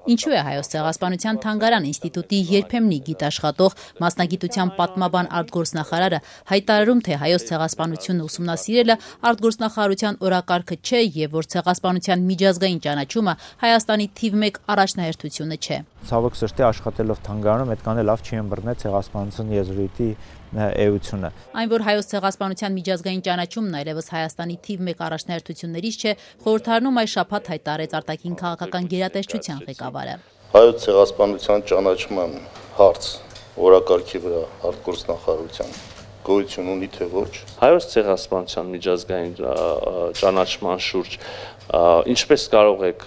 Ինչու է Հայոց ցեղասպանության թանգարան ինստիտուտի երբեմնի գիտաշխատող մասնագիտության պատմաբան արտգործնախարարը հայտարարում, թե հայոց ցեղասպանությունը ուսումնասիրելը արտգործնախարարության օրակարգը չէ եւ որ ցեղասպանության միջազգային ճանաչումը Հայաստանի թիվ 1 առաջնահերթությունը չէ։ Ցավոք սրտի աշխատելով թանգարանում այդքան էլ լավ չի ըմբռնել ցեղասպանության եզրույթի էությունը։ Այն, որ հայոց ցեղասպանության միջազգային ճանաչումն այլևս Հայաստանի թիվ 1 առաջնահերթություններից չէ, խորհրդարանում այս շաբաթ հայտարարեց արտաքին քաղաքական գերատեսչության ղեկավարը։ Հայոց ցեղասպանության ճանաչման հարց օրակարգի վրա արտգործնախարարության գոյություն ունի թե ոչ։ Հայոց ցեղասպանության միջազգային ճանաչման շուրջ ինչպես կարող եք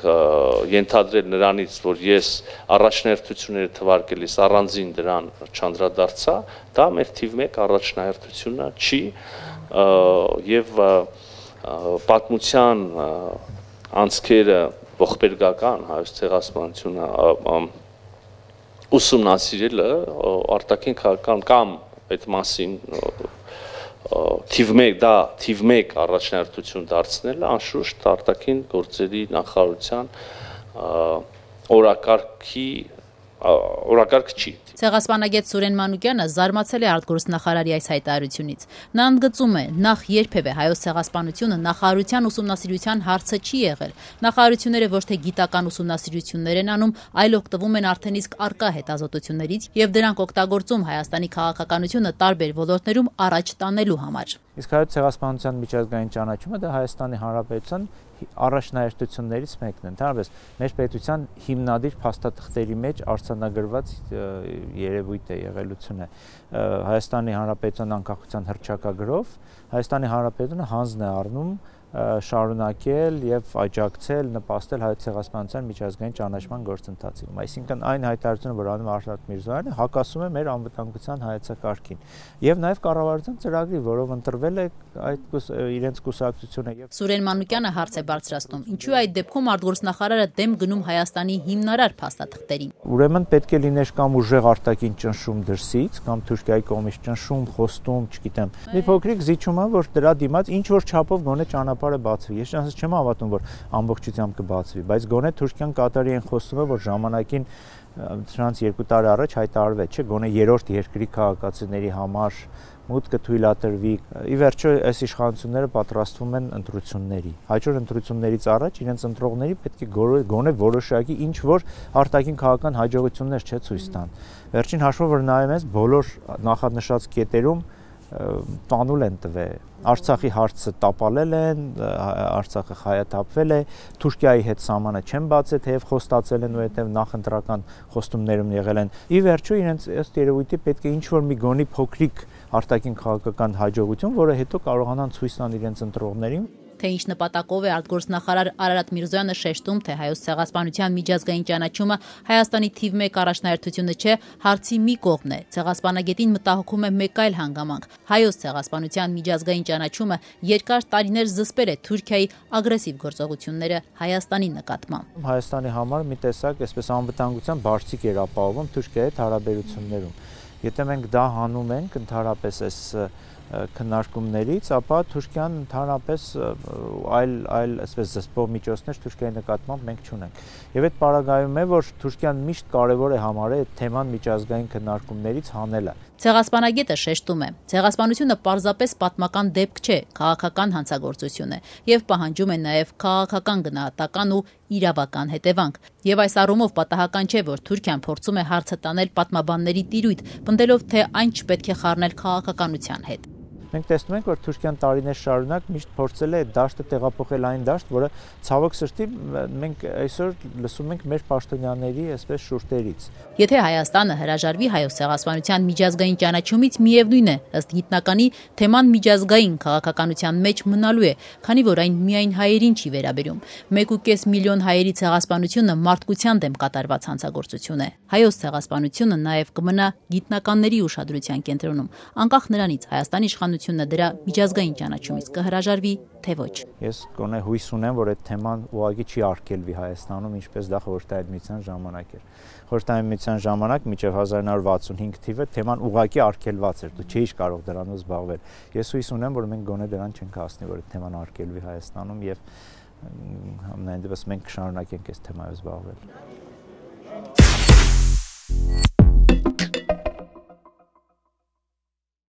ենթադրել նրանից, որ ես առաջնահերթությունները թվարկելիս առանձին դրան չանդրադարձա, դա մեր թիվ 1 առաջնահերթությունը չի եւ պատմության անցքերը ողբերգական հայոց ցեղասպանությունը ուսումնասիրելը արտաքին քաղաքական կամ այդ մասին թիվ 1 առաջնահերթություն դարձնելը անշուշտ արտաքին գործերի նախարարության օրակարգ չի։ Ցեղասպանագետ Սուրեն Մանուկյանը զարմացել է արտգործնախարարի այս հայտարարությունից։ Նա ընդգծում է, նախ երբևէ հայոց ցեղասպանությունը նախարարության ուսումնասիրության հարցը չի եղել։ Նախարարությունները ոչ թե գիտական ուսումնասիրություններ են անում, այլ օգտվում են արդեն իսկ առկա հետազոտություններից եւ դրանք օգտագործում Հայաստանի քաղաքականությունը տարբեր ոլորտներում առաջ տանելու համար։ Իսկ հայոց ցեղասպանության միջազգային ճանաչումը դա Հայաստանի Հանրապետության առաջնահերթություններից մեկն է։ Ընդհանրապես մեր պետության հիմնադիր փաստաթղթերի մեջ արձանագրված երևույթ է, եղելություն է։ Հայաստանի Հանրապետության անկախության հռչակագրով Հայաստանի Հանրապետությունը հանձն է առնում շարունակել եւ աջակցել, նպաստել հայոց ցեղասպանության միջազգային ճանաչման գործընթացին։ Այսինքն այն հայտարարությունը, որ անում Արշակ Միրզոյանը, հակասում է մեր անվտանգության հայեցակարգին եւ նաեւ կառավարության ծրագրի, որով ընտրվել է այդ իրենց կուսակցությունը եւ Սուրեն Մանուկյանը հարց է բարձրացնում, ինչու է այդ դեպքում արտգործնախարարը դեմ գնում Հայաստանի հիմնարար փաստաթղթերին։ Ուրեմն պետք է լիներ կամ ուժեղ արտաքին ճնշում դրսից, կամ Թուրքիայի կողմից ճնշում, խոստում, չգիտեմ, մի փոքրիկ զիջումը, որ դրա դիմաց ինչ որ չափով գոնե ճանապարհը բացվի։ Ես ճանաչած չեմ հավատում, որ ամբողջությամբ կբացվի, բայց գոնե Թուրքիան Կատարի են խոստումը, որ ժամանակին դրանց 2 տարի առաջ հայտարարվեց, չէ, գոնե երրորդ երկրի քաղաքացիների համար մուտքը թույլատրվի։ Ի վերջո այս իշխանությունները պատրաստվում են ընտրությունների։ Հաջորդ ընտրություններից առաջ իրենց ընտրողների պետք է գոնե որոշակի ինչ որ արտաքին քաղաքական հաջողություններ չէ ցույց տան։ Վերջին հաշվով որ նայում ես բոլոր նախանշած կետերում տանուլ են տվել։ Արցախի հարցը տապալել են, Արցախը խայաթափվել է, Թուրքիայի հետ սահմանը չեն բացել, թեև խոստացել են ու հետև նախընտրական խոստումներում եղել են։ Ի վերջո իրենց ըստ երևույթի պետք է ինչ-որ մի գոնի փոքրիկ արտաքին քաղաքական հաջողություն, որը հետո կարողանան ցույց տան իրենց ընտրողներին։ Թե ինչ նպատակով է արտգործնախարար Արարատ Միրզոյանը շեշտում, թե հայոց ցեղասպանության միջազգային ճանաչումը Հայաստանի թիվ 1 առաջնահերթությունը չէ, հարցի մի կողմն է։ Ցեղասպանագետին մտահոգում է մեկ այլ հանգամանք։ Հայոց ցեղասպանության միջազգային ճանաչումը երկար տարիներ զսպել է Թուրքիայի ագրեսիվ գործողությունները Հայաստանի նկատմամբ։ Հայաստանի համար մի տեսակ այսպես անվտանգության բարձիկ էր ապահովում Թուրքիայի հետ հարաբերություններում։ Եթե մենք դա հանում ենք ընդհանրապես այս քննարկումներից, ապա Թուրքիան ընդհանրապես այլ այսպես զսպող միջոցներ Թուրքիայի նկատմամբ մենք չունենք։ Եվ այդ պարագայում է, որ Թուրքիան միշտ կարևոր է համարել այդ թեման միջազգային քննարկումներից հանելը։ Ցեղասպանագետը շեշտում է. ցեղասպանությունը պարզապես պատմական դեպք չէ, քաղաքական հանցագործություն է եւ պահանջում է նաեւ քաղաքական գնահատական ու իրավական հետևանք։ Եվ այս առումով պատահական չէ, որ Թուրքիան փորձում է հարցը տանել պատմաբանների տիրույթ, պնդելով, թե այն չպետք է խառնել քաղաքականության հետ։ Մենք տեսնում ենք, որ Թուրքիան տարիներ շարունակ միշտ փորձել է դաշտը տեղափոխել այն դաշտ, որը ցավոք սրտի մենք այսօր լսում ենք մեր պաշտոնյաների այսպես շուրթերից։ Եթե Հայաստանը հրաժարվի հայոց ցեղասպանության միջազգային ճանաչումից, միևնույն է, ըստ գիտնականի, թեման միջազգային քաղաքականության մեջ մնալու է, քանի որ այն միայն հայերին չի վերաբերում։ 1.5 միլիոն հայերի ցեղասպանությունը մարդկության դեմ կատարված հանցագործություն է։ Հայոց ցեղասպանությունը նաև կմնա գիտնականների ուշադրության կենտրոնում, անկախ նրանից Հայաստանի իշխանությունը դրա միջազգային ճանաչումից կհրաժարվի, թե ոչ։ Ես գոնե հույս ունեմ, որ այդ թեման ուղղակի չի արգելվի Հայաստանում, ինչպես դա Խորհրդային Միության ժամանակ էր։ Խորհրդային Միության ժամանակ մինչև 1965 թիվը թեման ուղղակի արգելված էր, դու չէիր կարող դրանով զբաղվել։ Ես հույս ունեմ, որ մենք գոնե դրան չենք հասնի, որ այդ թեման արգելվի Հայաստանում եւ ամենայն դեպս մենք կշարունակենք այս թեմայով զբաղվել։